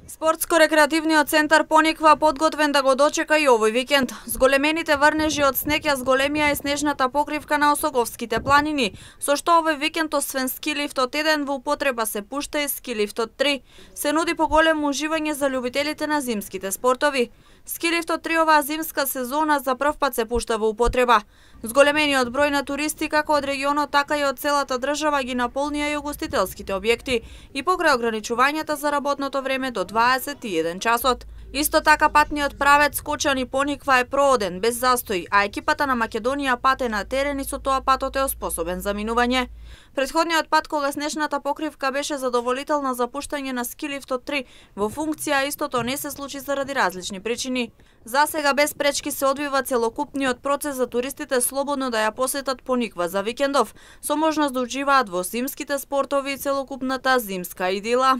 Спортско-рекреативниот центар Пониква подготвен да го дочека и овој викенд. Зголемените врнежи од снег ја зголемија и снежната покривка на Осоговските планини, со што овој викенд освен ски лифтот 1 во употреба се пушта и ски лифтот 3. Се нуди поголемо уживање за љубителите на зимските спортови. Ски лифтот 3 оваа зимска сезона за прв пат се пушта во употреба. Зголемениот број на туристи како од регионот, така и од целата држава ги наполнија и угостителските објекти и покрај ограничувањата за работното време до 21 часот. Исто така патниот правец Скочани Пониква е прооден без застој, а екипата на Македонија пате на терен и со тоа патот е оспособен за минување. Претходниот пат кога снежната покривка беше задоволителна за пуштање на ски лифтот 3 во функција, истото не се случи заради различни причини. За сега без пречки се одвива целокупниот процес за туристите слободно да ја посетат Пониква за викендов, со можност да уживаат во зимските спортови и целокупната зимска идила.